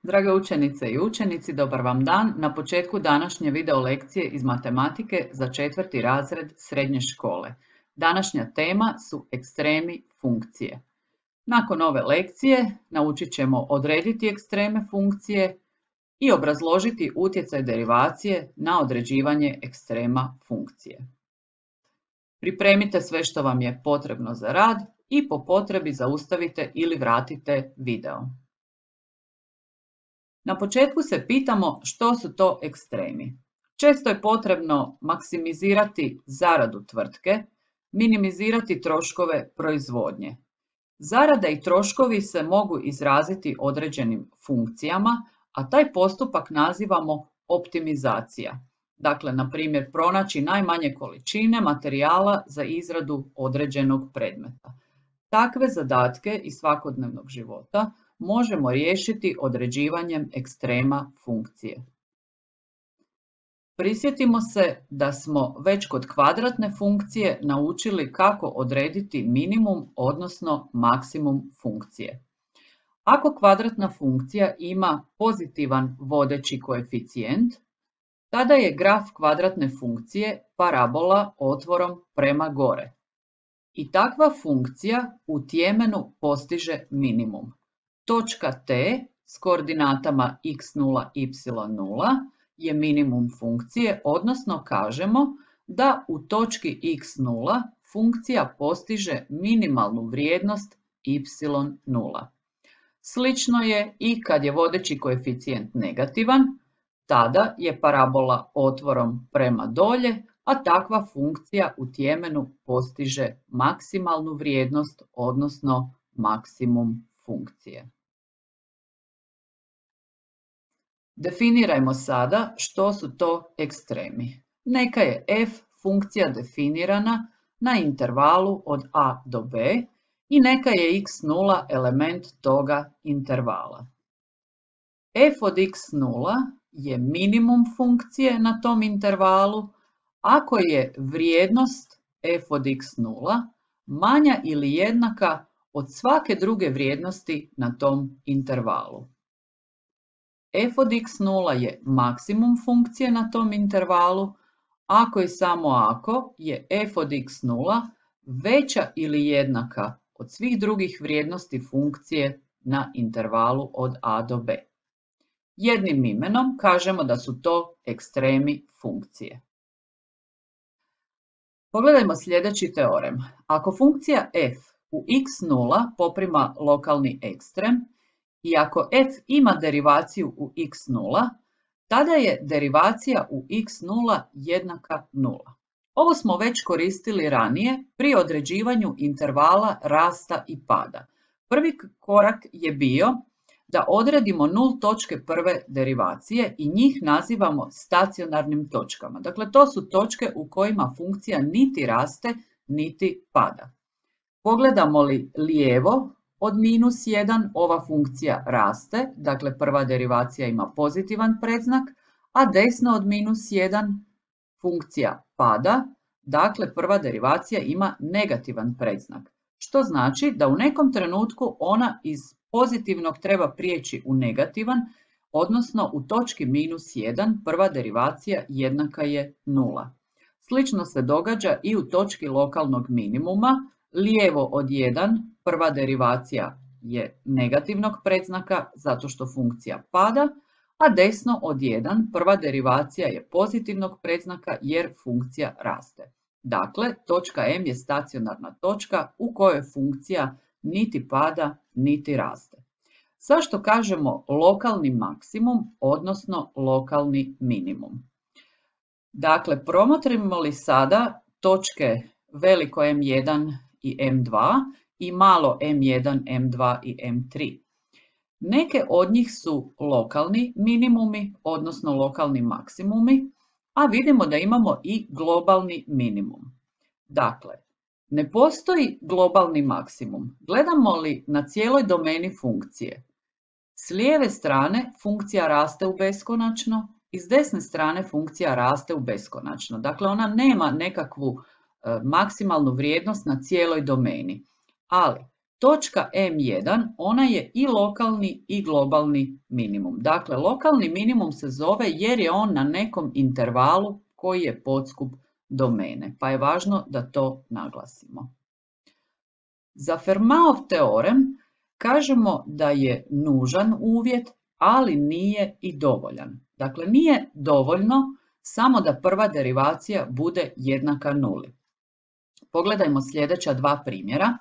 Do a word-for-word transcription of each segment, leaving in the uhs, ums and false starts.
Drage učenice i učenici, dobar vam dan. Na početku današnje video lekcije iz matematike za četvrti razred srednje škole. Današnja tema su ekstremi funkcije. Nakon ove lekcije naučit ćemo odrediti ekstreme funkcije i obrazložiti utjecaj derivacije na određivanje ekstrema funkcije. Pripremite sve što vam je potrebno za rad i po potrebi zaustavite ili vratite video. Na početku se pitamo što su to ekstremi. Često je potrebno maksimizirati zaradu tvrtke, minimizirati troškove proizvodnje. Zarada i troškovi se mogu izraziti određenim funkcijama, a taj postupak nazivamo optimizacija. Dakle, na primjer, pronaći najmanje količine materijala za izradu određenog predmeta. Takve zadatke iz svakodnevnog života možemo riješiti određivanjem ekstrema funkcije. Prisjetimo se da smo već kod kvadratne funkcije naučili kako odrediti minimum, odnosno maksimum funkcije. Ako kvadratna funkcija ima pozitivan vodeći koeficijent, tada je graf kvadratne funkcije parabola otvorom prema gore. I takva funkcija u tjemenu postiže minimum. Točka T s koordinatama x nula, y nula je minimum funkcije, odnosno kažemo da u točki x nula funkcija postiže minimalnu vrijednost y nula. Slično je i kad je vodeći koeficijent negativan, tada je parabola otvorom prema dolje, a takva funkcija u tjemenu postiže maksimalnu vrijednost, odnosno maksimum funkcije. Definirajmo sada što su to ekstremi. Neka je f funkcija definirana na intervalu od a do b i neka je x nula element toga intervala. F od x nula je minimum funkcije na tom intervalu ako je vrijednost f od x nula manja ili jednaka od svake druge vrijednosti na tom intervalu. F od x nula je maksimum funkcije na tom intervalu ako i samo ako je f od x nula veća ili jednaka od svih drugih vrijednosti funkcije na intervalu od a do b. Jednim imenom kažemo da su to ekstremi funkcije. Pogledajmo sljedeći teorem. Ako funkcija f u x nula poprima lokalni ekstrem i ako f ima derivaciju u x nula, tada je derivacija u x nula jednaka nula. Ovo smo već koristili ranije pri određivanju intervala rasta i pada. Prvi korak je bio da odredimo nul točke prve derivacije i njih nazivamo stacionarnim točkama. Dakle, to su točke u kojima funkcija niti raste, niti pada. Pogledamo li lijevo od minus jedan, ova funkcija raste, dakle prva derivacija ima pozitivan predznak, a desno od minus jedan funkcija pada, dakle prva derivacija ima negativan predznak, što znači da u nekom trenutku ona iz pozitivnog treba prijeći u negativan, odnosno u točki minus jedan prva derivacija jednaka je nula. Slično se događa i u točki lokalnog minimuma, lijevo od jedan prva derivacija je negativnog predznaka zato što funkcija pada, a desno od jedan prva derivacija je pozitivnog predznaka jer funkcija raste. Dakle, točka M je stacionarna točka u kojoj funkcija niti pada, niti raste. Zašto kažemo lokalni maksimum, odnosno lokalni minimum? Dakle, promotrimo li sada točke veliko em jedan i em dva i malo em jedan, em dva i em tri. Neke od njih su lokalni minimumi, odnosno lokalni maksimumi, a vidimo da imamo i globalni minimum. Dakle, ne postoji globalni maksimum. Gledamo li na cijeloj domeni funkcije? S lijeve strane funkcija raste u beskonačno i s desne strane funkcija raste u beskonačno. Dakle, ona nema nekakvu e, maksimalnu vrijednost na cijeloj domeni. Ali, točka em jedan, ona je i lokalni i globalni minimum. Dakle, lokalni minimum se zove jer je on na nekom intervalu koji je podskup domene, pa je važno da to naglasimo. Za Fermatov teorem kažemo da je nužan uvjet, ali nije i dovoljan. Dakle, nije dovoljno samo da prva derivacija bude jednaka nuli. Pogledajmo sljedeća dva primjera.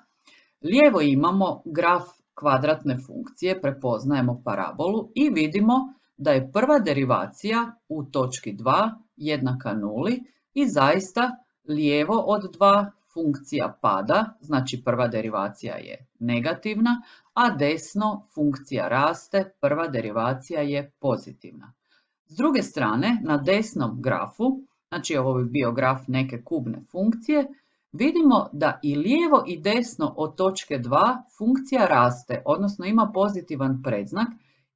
Lijevo imamo graf kvadratne funkcije, prepoznajemo parabolu i vidimo da je prva derivacija u točki dva jednaka nuli i zaista lijevo od dva funkcija pada, znači prva derivacija je negativna, a desno funkcija raste, prva derivacija je pozitivna. S druge strane, na desnom grafu, znači ovo bi bio graf neke kubne funkcije, vidimo da i lijevo i desno od točke dva funkcija raste, odnosno ima pozitivan predznak,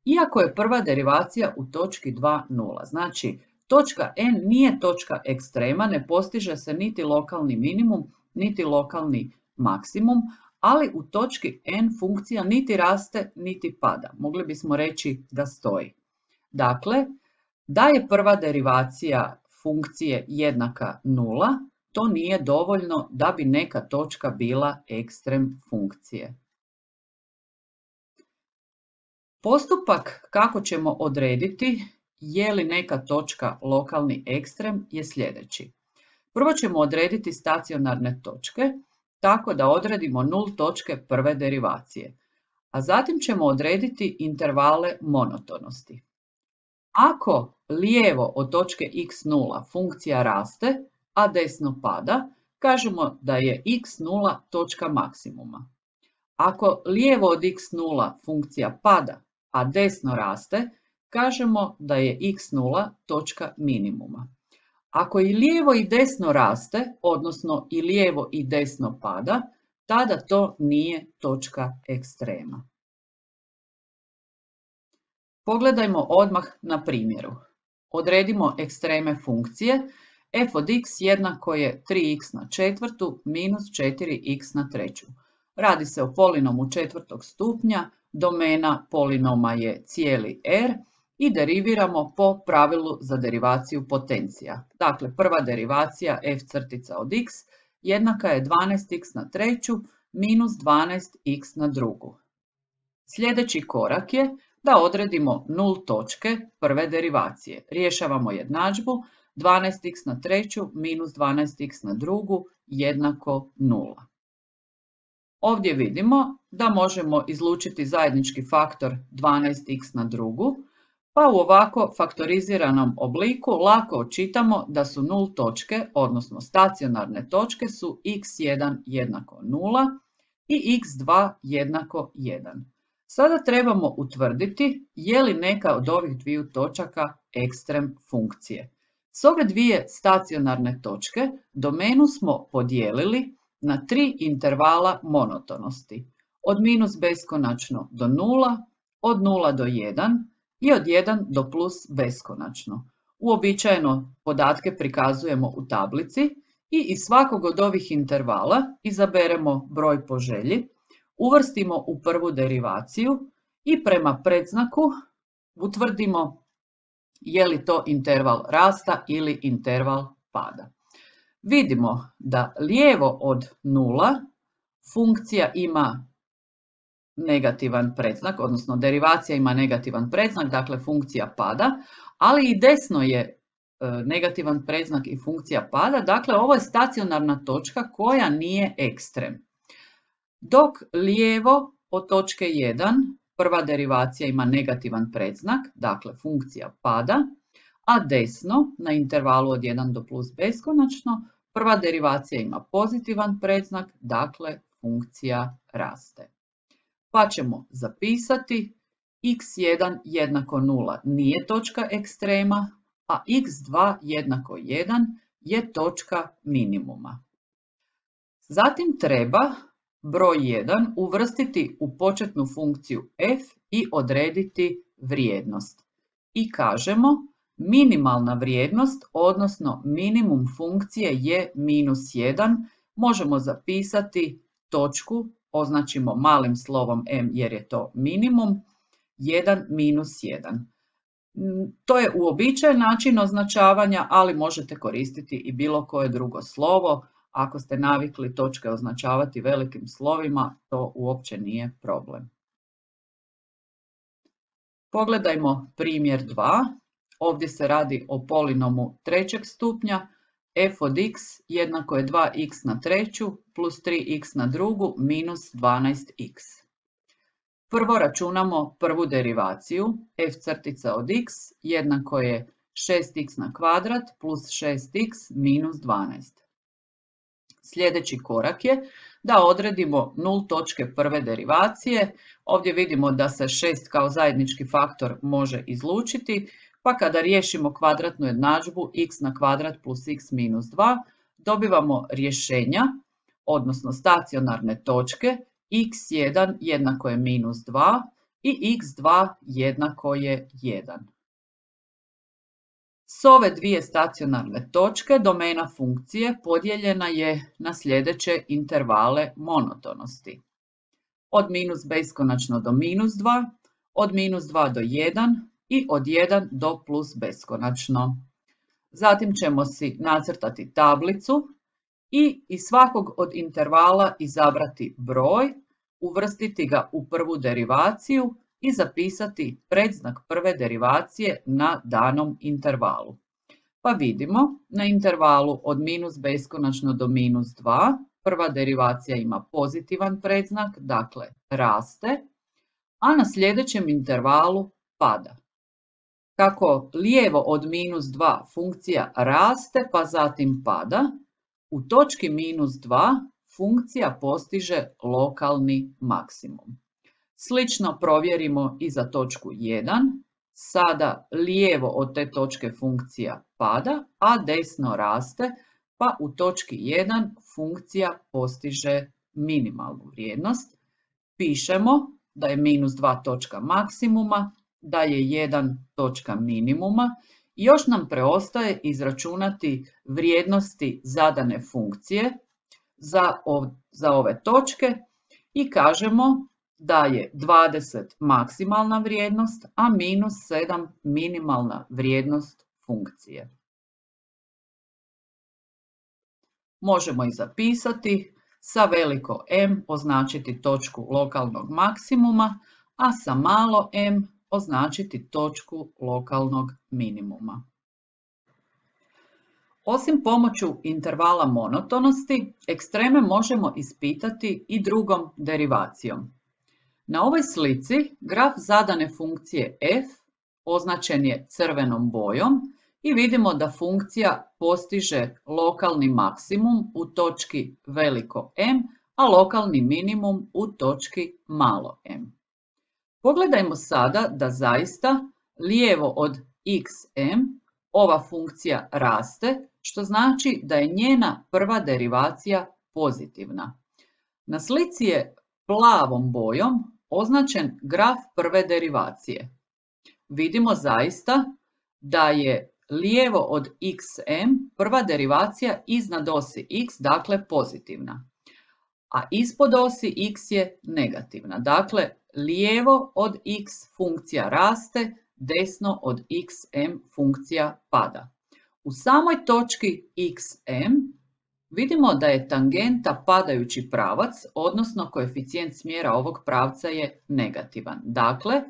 iako je prva derivacija u točki dva nula. Znači, točka n nije točka ekstrema, ne postiže se niti lokalni minimum, niti lokalni maksimum, ali u točki n funkcija niti raste, niti pada. Mogli bismo reći da stoji. Dakle, da je prva derivacija funkcije jednaka nula, to nije dovoljno da bi neka točka bila ekstrem funkcije. Postupak kako ćemo odrediti je li neka točka lokalni ekstrem je sljedeći. Prvo ćemo odrediti stacionarne točke, tako da odredimo nul točke prve derivacije, a zatim ćemo odrediti intervale monotonosti. Ako lijevo od točke x nula funkcija raste, a desno pada, kažemo da je x nula točka maksimuma. Ako lijevo od x nula funkcija pada, a desno raste, kažemo da je x nula točka minimuma. Ako i lijevo i desno raste, odnosno i lijevo i desno pada, tada to nije točka ekstrema. Pogledajmo odmah na primjeru. Odredimo ekstreme funkcije. F od x jednako je tri x na četvrtu minus četiri x na treću. Radi se o polinomu četvrtog stupnja, domena polinoma je cijeli R i deriviramo po pravilu za derivaciju potencija. Dakle, prva derivacija f crtica od x jednaka je dvanaest x na treću minus dvanaest x na drugu. Sljedeći korak je da odredimo nul točke prve derivacije. Rješavamo jednadžbu dvanaest x na treću minus dvanaest x na drugu jednako nula. Ovdje vidimo da možemo izlučiti zajednički faktor dvanaest x na drugu, pa u ovako faktoriziranom obliku lako očitamo da su nul točke, odnosno stacionarne točke su x jedan jednako nula i x dva jednako jedan. Sada trebamo utvrditi je li neka od ovih dviju točaka ekstrem funkcije. S ove dvije stacionarne točke domenu smo podijelili na tri intervala monotonosti. Od minus beskonačno do nula, od nula do jedan i od jedan do plus beskonačno. Uobičajeno podatke prikazujemo u tablici i iz svakog od ovih intervala izaberemo broj po želji, uvrstimo u prvu derivaciju i prema predznaku utvrdimo je li to interval rasta ili interval pada. Vidimo da lijevo od nula funkcija ima negativan predznak, odnosno derivacija ima negativan predznak, dakle funkcija pada, ali i desno je negativan predznak i funkcija pada, dakle ovo je stacionarna točka koja nije ekstrem. Dok lijevo od točke jedan prva derivacija ima negativan predznak, dakle funkcija pada, a desno na intervalu od jedan do plus beskonačno prva derivacija ima pozitivan predznak, dakle funkcija raste. Pa ćemo zapisati x jedan jednako nula nije točka ekstrema, a x dva jednako jedan je točka minimuma. Zatim treba broj jedan uvrstiti u početnu funkciju f i odrediti vrijednost. I kažemo minimalna vrijednost, odnosno minimum funkcije je minus jedan. Možemo zapisati točku označimo malim slovom m jer je to minimum, jedan minus jedan. To je uobičajen način označavanja, ali možete koristiti i bilo koje drugo slovo. Ako ste navikli točke označavati velikim slovima, to uopće nije problem. Pogledajmo primjer dva. Ovdje se radi o polinomu trećeg stupnja. F od x jednako je dva x na treću plus tri x na drugu minus dvanaest x. Prvo računamo prvu derivaciju. F crtica od x jednako je šest x na kvadrat plus šest x minus dvanaest. Sljedeći korak je da odredimo nul točke prve derivacije. Ovdje vidimo da se šest kao zajednički faktor može izlučiti, pa kada riješimo kvadratnu jednadžbu x na kvadrat plus x minus dva, dobivamo rješenja, odnosno stacionarne točke, x jedan jednako je minus dva i x dva jednako je jedan. S ove dvije stacionarne točke domena funkcije podijeljena je na sljedeće intervale monotonosti. Od minus beskonačno do minus dva, od minus dva do jedan i od jedan do plus beskonačno. Zatim ćemo si nacrtati tablicu i iz svakog od intervala izabrati broj, uvrstiti ga u prvu derivaciju i zapisati predznak prve derivacije na danom intervalu. Pa vidimo, na intervalu od minus beskonačno do minus dva, prva derivacija ima pozitivan predznak, dakle raste, a na sljedećem intervalu pada. Kako lijevo od minus dva funkcija raste pa zatim pada, u točki minus dva funkcija postiže lokalni maksimum. Slično provjerimo i za točku jedan. Sada lijevo od te točke funkcija pada, a desno raste, pa u točki jedan funkcija postiže minimalnu vrijednost. Pišemo da je minus dva točka maksimuma, da je jedan točka minimuma i još nam preostaje izračunati vrijednosti zadane funkcije za, ov, za ove točke i kažemo da je dvadeset maksimalna vrijednost, a minus sedam minimalna vrijednost funkcije. Možemo i zapisati sa veliko M označiti točku lokalnog maksimuma, a sa malo m označiti točku lokalnog minimuma. Osim pomoću intervala monotonosti, ekstreme možemo ispitati i drugom derivacijom. Na ovoj slici graf zadane funkcije f označen je crvenom bojom i vidimo da funkcija postiže lokalni maksimum u točki veliko M, a lokalni minimum u točki malo m. Pogledajmo sada da zaista lijevo od xm ova funkcija raste, što znači da je njena prva derivacija pozitivna. Na slici je plavom bojom označen graf prve derivacije. Vidimo zaista da je lijevo od xm prva derivacija iznad osi x, dakle pozitivna, a ispod osi x je negativna. Dakle, lijevo od x funkcija raste, desno od xm funkcija pada. U samoj točki xm vidimo da je tangenta padajući pravac, odnosno koeficijent smjera ovog pravca je negativan. Dakle,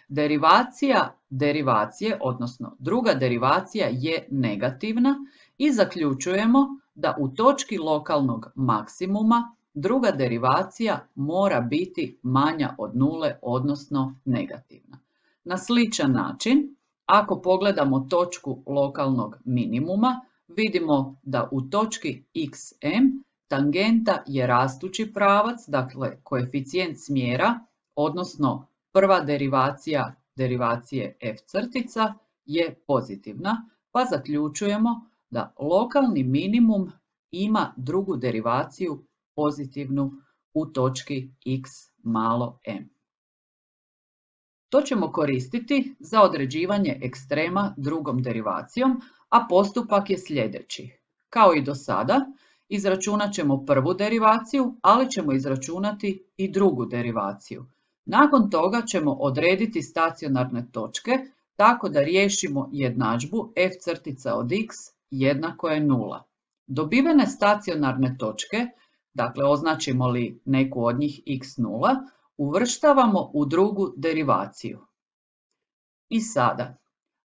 derivacija derivacije, odnosno druga derivacija je negativna i zaključujemo da u točki lokalnog maksimuma druga derivacija mora biti manja od nule, odnosno negativna. Na sličan način, ako pogledamo točku lokalnog minimuma, vidimo da u točki xm tangenta je rastući pravac, dakle koeficijent smjera, odnosno prva derivacija derivacije f crtica je pozitivna, pa zaključujemo da lokalni minimum ima drugu derivaciju pozitivnu u točki x malo m. To ćemo koristiti za određivanje ekstrema drugom derivacijom, a postupak je sljedeći. Kao i do sada, Izračunat ćemo prvu derivaciju, ali ćemo izračunati i drugu derivaciju. Nakon toga ćemo odrediti stacionarne točke tako da riješimo jednadžbu f crtica od x jednako je nula. Dobivene stacionarne točke, dakle označimo li neku od njih x nula, uvrštavamo u drugu derivaciju. I sada,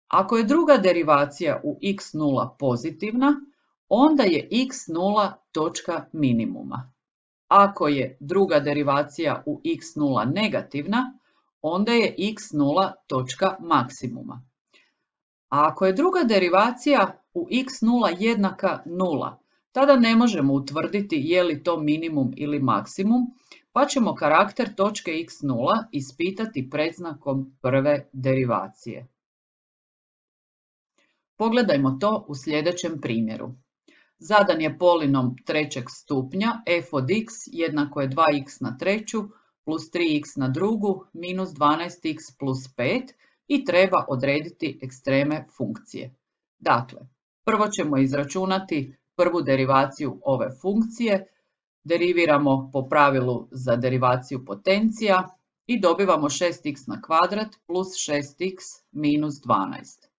ako je druga derivacija u x nula pozitivna, onda je x nula točka minimuma. Ako je druga derivacija u x nula negativna, onda je x nula točka maksimuma. A ako je druga derivacija u x nula jednaka nula, tada ne možemo utvrditi je li to minimum ili maksimum, pa ćemo karakter točke x nula ispitati predznakom prve derivacije. Pogledajmo to u sljedećem primjeru. Zadan je polinom trećeg stupnja f od x jednako je dva x na treću plus tri x na drugu minus dvanaest x plus pet i treba odrediti ekstreme funkcije. Dakle, prvo ćemo izračunati prvu derivaciju ove funkcije, deriviramo po pravilu za derivaciju potencija i dobivamo šest x na kvadrat plus šest x minus dvanaest.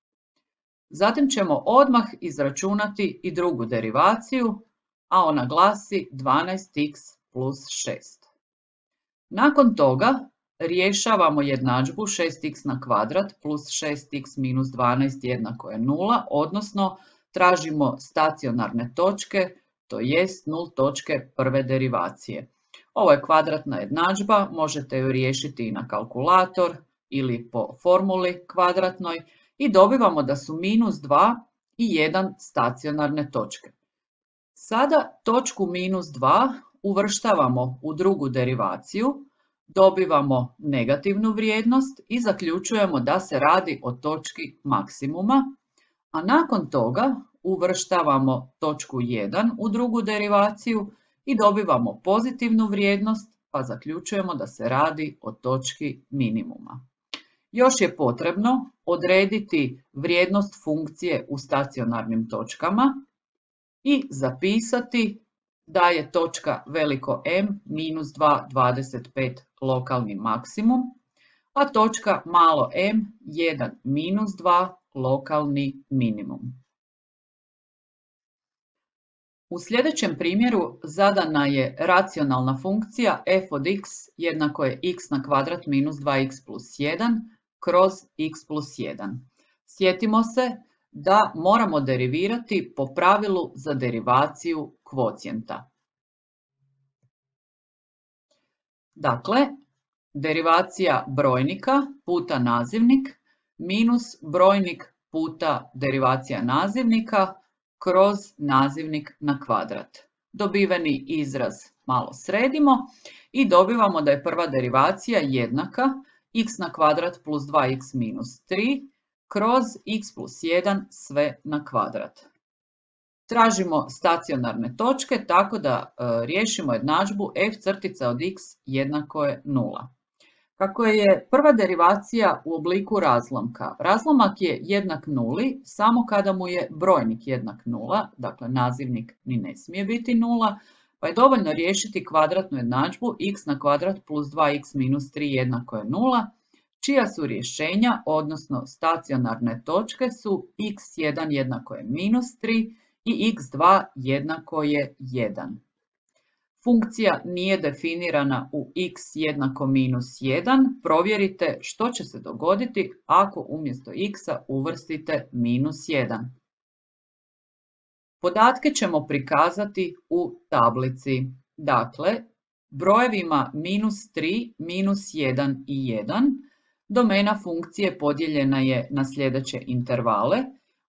Zatim ćemo odmah izračunati i drugu derivaciju, a ona glasi dvanaest x plus šest. Nakon toga rješavamo jednadžbu šest x na kvadrat plus šest x minus dvanaest jednako je nula, odnosno tražimo stacionarne točke, to jest nul točke prve derivacije. Ovo je kvadratna jednadžba, možete ju riješiti i na kalkulator ili po formuli kvadratnoj i dobivamo da su minus dva i jedan stacionarne točke. Sada točku minus dva uvrštavamo u drugu derivaciju, dobivamo negativnu vrijednost i zaključujemo da se radi o točki maksimuma, a nakon toga uvrštavamo točku jedan u drugu derivaciju i dobivamo pozitivnu vrijednost, pa zaključujemo da se radi o točki minimuma. Još je potrebno odrediti vrijednost funkcije u stacionarnim točkama i zapisati da je točka veliko M minus dva dvadeset pet lokalni maksimum, a točka malo m jedan minus dva lokalni minimum. U sljedećem primjeru zadana je racionalna funkcija f od x jednako je x na kvadrat minus dva x plus jedan kroz x plus jedan. Sjetimo se da moramo derivirati po pravilu za derivaciju kvocijenta. Dakle, derivacija brojnika puta nazivnik minus brojnik puta derivacija nazivnika kroz nazivnik na kvadrat. Dobiveni izraz malo sredimo i dobivamo da je prva derivacija jednaka x na kvadrat plus dva x minus tri kroz x plus jedan sve na kvadrat. Tražimo stacionarne točke tako da e, riješimo jednadžbu f crtica od x jednako je nula. Kako je prva derivacija u obliku razlomka, razlomak je jednak nuli samo kada mu je brojnik jednak nula, dakle nazivnik ni ne smije biti nula, pa je dovoljno riješiti kvadratnu jednadžbu x na kvadrat plus dva x minus tri jednako je nula, čija su rješenja, odnosno stacionarne točke su x jedan jednako je minus tri i x dva jednako je jedan. Funkcija nije definirana u x jednako minus jedan. Provjerite što će se dogoditi ako umjesto x-a uvrstite minus jedan. Podatke ćemo prikazati u tablici. Dakle, brojevima minus tri, minus jedan i jedan. Domena funkcije podijeljena je na sljedeće intervale.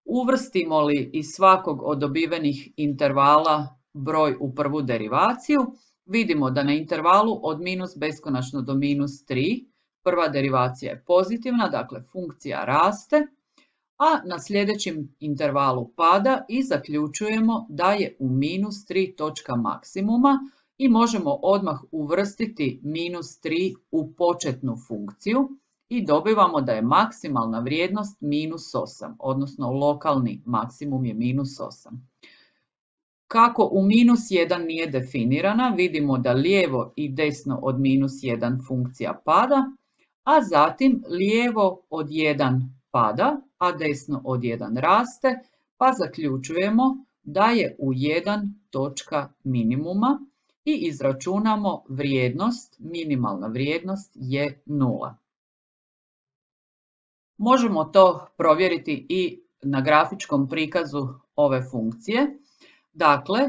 Uvrstimo li iz svakog od dobivenih intervala broj u prvu derivaciju, vidimo da na intervalu od minus beskonačno do minus tri prva derivacija je pozitivna, dakle funkcija raste, a na sljedećem intervalu pada i zaključujemo da je u minus tri točka maksimuma i možemo odmah uvrstiti minus tri u početnu funkciju i dobivamo da je maksimalna vrijednost minus osam, odnosno lokalni maksimum je minus osam. Kako u minus jedan nije definirana, vidimo da lijevo i desno od minus jedan funkcija pada, a zatim lijevo od jedan pada, a desno od jedan raste, pa zaključujemo da je u jedan točka minimuma i izračunamo vrijednost, minimalna vrijednost je nula. Možemo to provjeriti i na grafičkom prikazu ove funkcije. Dakle,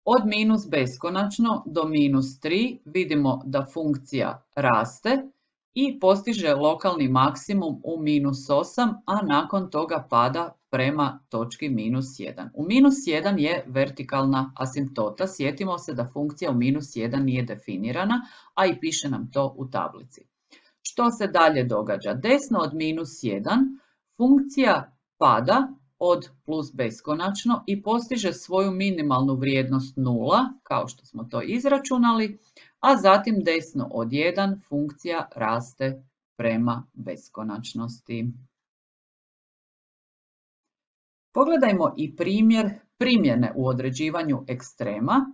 od minus beskonačno do minus tri vidimo da funkcija raste i postiže lokalni maksimum u minus osam, a nakon toga pada prema točki minus jedan. U minus jedan je vertikalna asimptota. Sjetimo se da funkcija u minus jedan nije definirana, a i piše nam to u tablici. Što se dalje događa? Desno od minus jedan funkcija pada od plus beskonačno i postiže svoju minimalnu vrijednost nula, kao što smo to izračunali, a zatim desno od jedan funkcija raste prema beskonačnosti. Pogledajmo i primjer primjene u određivanju ekstrema.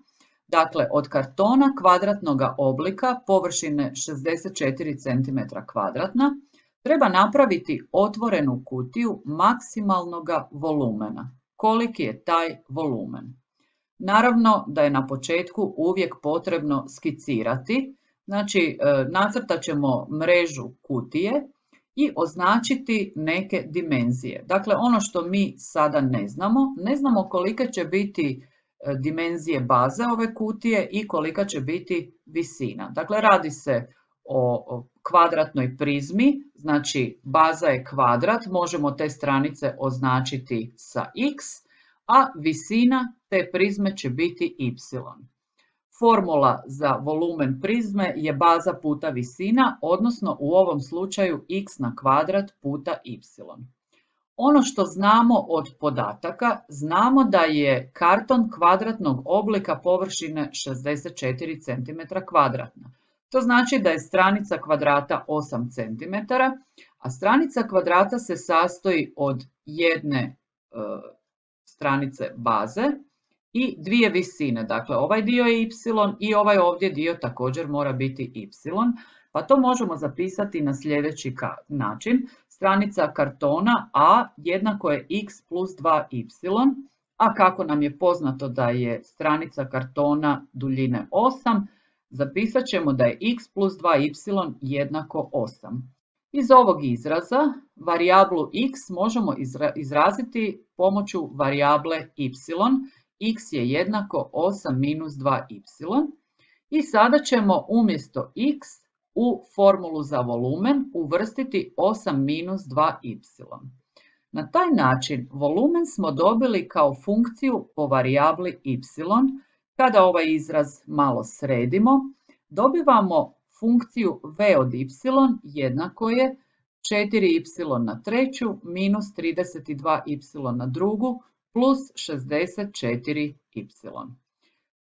Dakle, od kartona kvadratnog oblika površine šezdeset četiri centimetra kvadratna treba napraviti otvorenu kutiju maksimalnog volumena. Koliki je taj volumen? Naravno da je na početku uvijek potrebno skicirati, znači nacrtat ćemo mrežu kutije i označiti neke dimenzije. Dakle, ono što mi sada ne znamo, ne znamo kolike će biti dimenzije baze ove kutije i kolika će biti visina. Dakle, radi se o kvadratnoj prizmi, znači baza je kvadrat, možemo te stranice označiti sa x, a visina te prizme će biti y. Formula za volumen prizme je baza puta visina, odnosno u ovom slučaju x na kvadrat puta y. Ono što znamo od podataka, znamo da je karton kvadratnog oblika površine šezdeset četiri centimetra kvadratna. To znači da je stranica kvadrata osam centimetara, a stranica kvadrata se sastoji od jedne e, stranice baze i dvije visine. Dakle, ovaj dio je y i ovaj ovdje dio također mora biti y. Pa to možemo zapisati na sljedeći način. Stranica kartona A jednako je x plus dva y, a kako nam je poznato da je stranica kartona duljine osam, zapisat ćemo da je x plus dva y jednako osam. Iz ovog izraza varijablu x možemo izraziti pomoću varijable y. X je jednako osam minus dva y. I sada ćemo umjesto x u formulu za volumen uvrstiti osam minus dva y. Na taj način volumen smo dobili kao funkciju po varijabli y. Kada ovaj izraz malo sredimo, dobivamo funkciju v od y jednako je četiri y na treću minus trideset dva y na drugu plus šezdeset četiri y.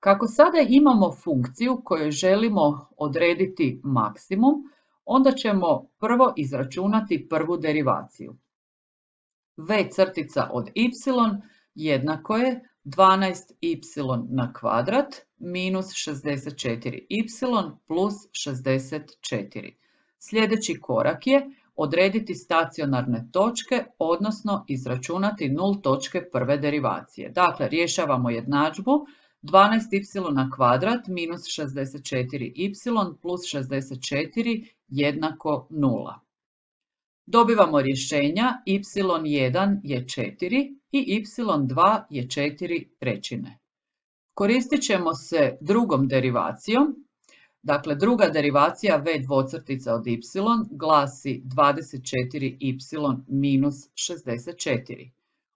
Kako sada imamo funkciju koju želimo odrediti maksimum, onda ćemo prvo izračunati prvu derivaciju. V crtica od y jednako je dvanaest y na kvadrat minus šezdeset četiri y plus šezdeset četiri. Sljedeći korak je odrediti stacionarne točke, odnosno izračunati nul točke prve derivacije. Dakle, rješavamo jednadžbu dvanaest y na kvadrat minus šezdeset četiri y plus šezdeset četiri jednako nula. Dobivamo rješenja y jedan je četiri i y dva je četiri trećine. Koristit ćemo se drugom derivacijom. Dakle, druga derivacija v dvocrtica od y glasi dvadeset četiri y minus šezdeset četiri.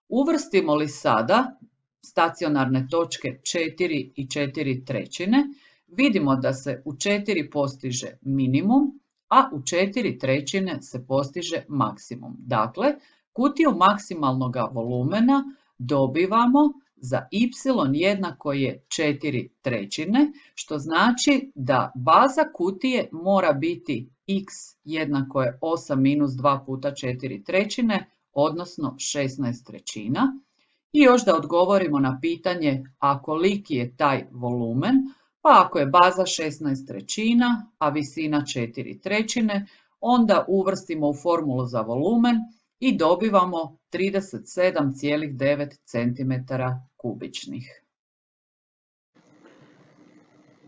Uvrstimo li sada stacionarne točke četiri i četiri trećine, vidimo da se u četiri postiže minimum, a u četiri trećine se postiže maksimum. Dakle, kutiju maksimalnog volumena dobivamo za y jednako je četiri trećine, što znači da baza kutije mora biti x jednako je osam minus dva puta četiri trećine, odnosno šesnaest trećina. I još da odgovorimo na pitanje a koliki je taj volumen, pa ako je baza šesnaest trećina, a visina četiri trećine, onda uvrstimo u formulu za volumen i dobivamo trideset sedam zarez devet centimetara kubičnih.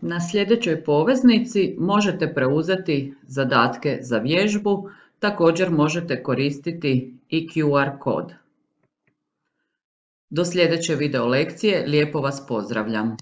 Na sljedećoj poveznici možete preuzeti zadatke za vježbu, također možete koristiti i Q R kod. Do sljedeće video lekcije lijepo vas pozdravljam.